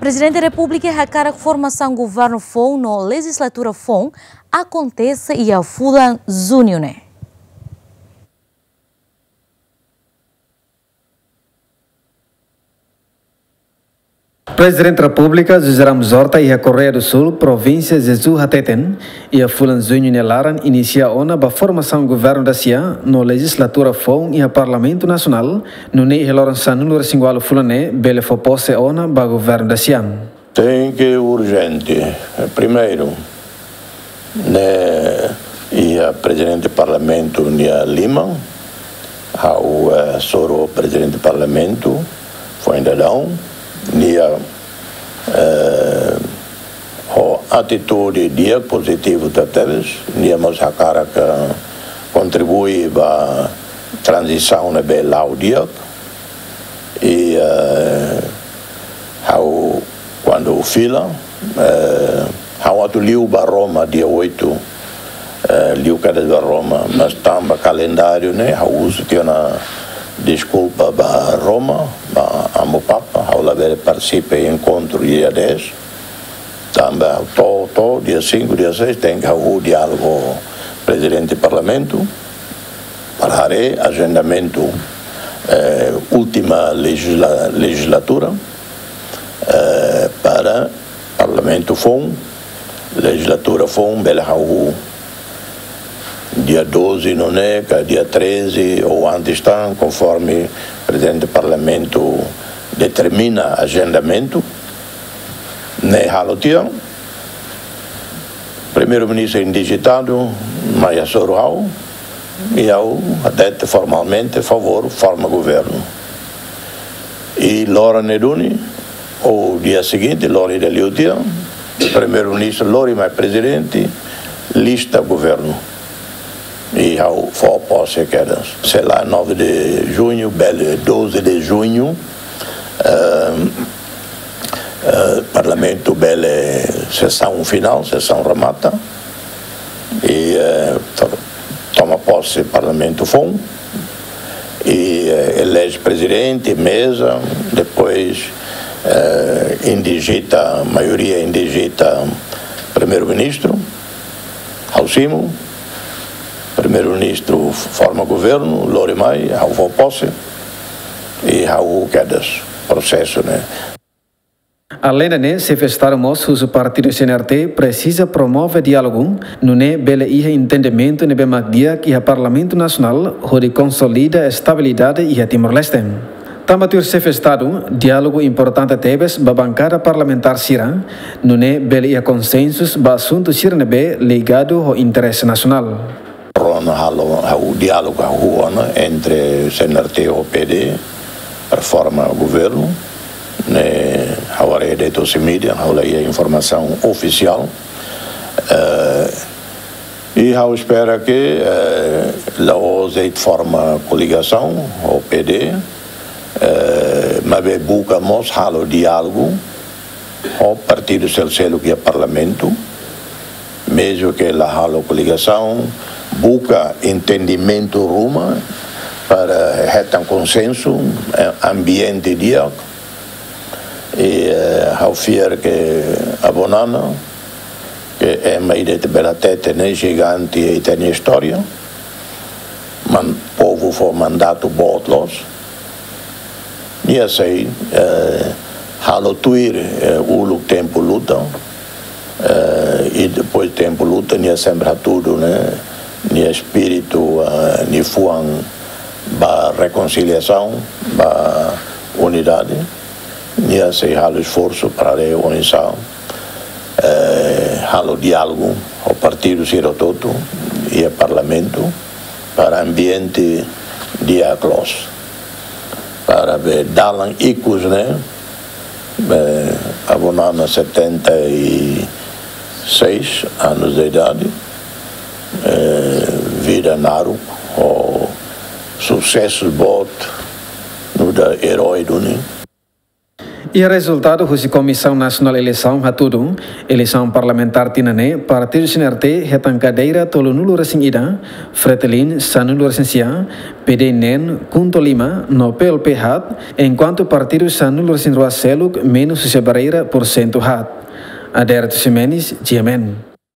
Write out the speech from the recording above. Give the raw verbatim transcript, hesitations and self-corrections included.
Prezidente Repúblika hakarak formasaun governu foun no lejizlatura foun akontese iha fulan Juñu ne'e. Prezidente Repúblika José Ramos Horta iha Correia do Sul, provínsia Jeju hateten, iha fulan Juñu nia laran inisia ona ba formasaun governu dasia no lejizlatura foun iha Parlamentu Nasionál, nune'e iha loron sanulu-resin-ualu fulan ne'e bele fó pose ona ba governu dasia. Tenke urjente. Primeiru, ne'e iha Prezidente Parlamentu nia liman, ha'u, eh, hasoru Prezidente Parlamentu foin dadaun, nia, eh, ho atitude di'ak, pozitivu tebes, nia mós hakarak kontribui ba tranzisaun ne'ebé la'o di'ak. I, eh, ha'u kuandu fila, eh, ha'u atu liu ba Roma dia oito, eh, liu kedas ba Roma, mas tanba kalendáriu ne'e, ha'u husu tiha ona deskulpa ba Roma, ba Amu Papa, ha'u labele partisipa enkontru dia dez. Tanba ha'u to'o, to'o dia cinco, dia seis, tenke halo diálogu Prezidente Parlamentu, para haree ajendamentu, eh, última lejizla-, lejizlatura, eh, para Parlamentu foun, lejizlatura foun, bele halo dia doze nune'e, ka dia treze, ou antes tan, konforme Prezidente Parlamentu determina ajendamentu, ne'e halo tiha. Primeiru-Ministru indijitadu mai hasoru ha'u, i ha'u hatete formalmente, favór, forma governu. I loron ne'e duni, ou dia seguinte, loron ida liu tiha, Primeiru-Ministru lori mai Prezidente, lista governu. I ha'u fó pose kedas. Sei la nove de junho, bele doze de junho, ehm, eh, Parlamentu bele sesaun finál, sesaun remata. I, eh, to-, toma pose Parlamentu foun. I, eh, eleje Prezidente, meza, depois, eh, indijita, maioria indijita Primeiru-Ministru, ha'u simu, Primeiru-Ministru forma governu, lori mai, ha'u fó pose, i ha'u kedas prosesu ne'e. Aleinde ne'e, Xefe Estadu mós husu partidu C N R T presiza promove diálogu, nune'e bele iha entendimentu ne'ebé mak di'ak iha Parlamentu Nasionál, hodi konsolida estabilidade iha Timor-Leste. Tanba tuir Xefe Estadu, diálogu importante tebes ba bankada parlamentár sira, nune'e bele iha konsensu ba asuntu sira ne'ebé ligadu ho interese nasionál. Rona halo, ha'u diálogu hahú ona entre C N R T ho P D, para forma governu, ne'e ha'u haree de'it husi mídia, ha'u la iha informasaun ofisiál. Eh, i ha'u espera ke, eh, la'ós de'it forma koligasaun ho P D, eh, maibé buka mós halo diálogu ho partidu seluk-seluk iha Parlamentu, mezmu ke la halo koligasaun, buka entendimentu ruma para hetan konsensu, eh, ambiente di'ak. I, eh, ha'u fiar ke Avó Nana, ke ema ida ita bele hatete ne'e jigante ita-nia istória, mas povu fó mandatu boot loos. Nia sei, eh, halo tuir, eh, uluk tempu luta. Eh, i depois tempu luta, nia sempre hatudu, ne'e, nia espíritu, eh, nia fuan ba rekonsiliasaun, ba unidade. Nia sei halo esforsu para reunhun, eh, halo diálogu ho partidu sira hotu-hotu iha Parlamentu para ambiente di'ak loos. Para be dalan ikus ne'e, be Avó Nana setenta e seis anos de idade, eh, vida naruk ho susesu boot, nu'udar erói duni. Iha rezultadu husi Komisaun Nasionál Eleisaun hatudu, eleisaun parlamentár tinan ne'e, partidu C N R T hetan kadeira tolunulu resin ida, Fretilin sanulu resin sia, P D I neen, KHUNTO lima, no P L P haat, enkuantu partidu sanulu resin rua seluk menus husi barreira porsentu haat. Aderito Ximenes, G M N.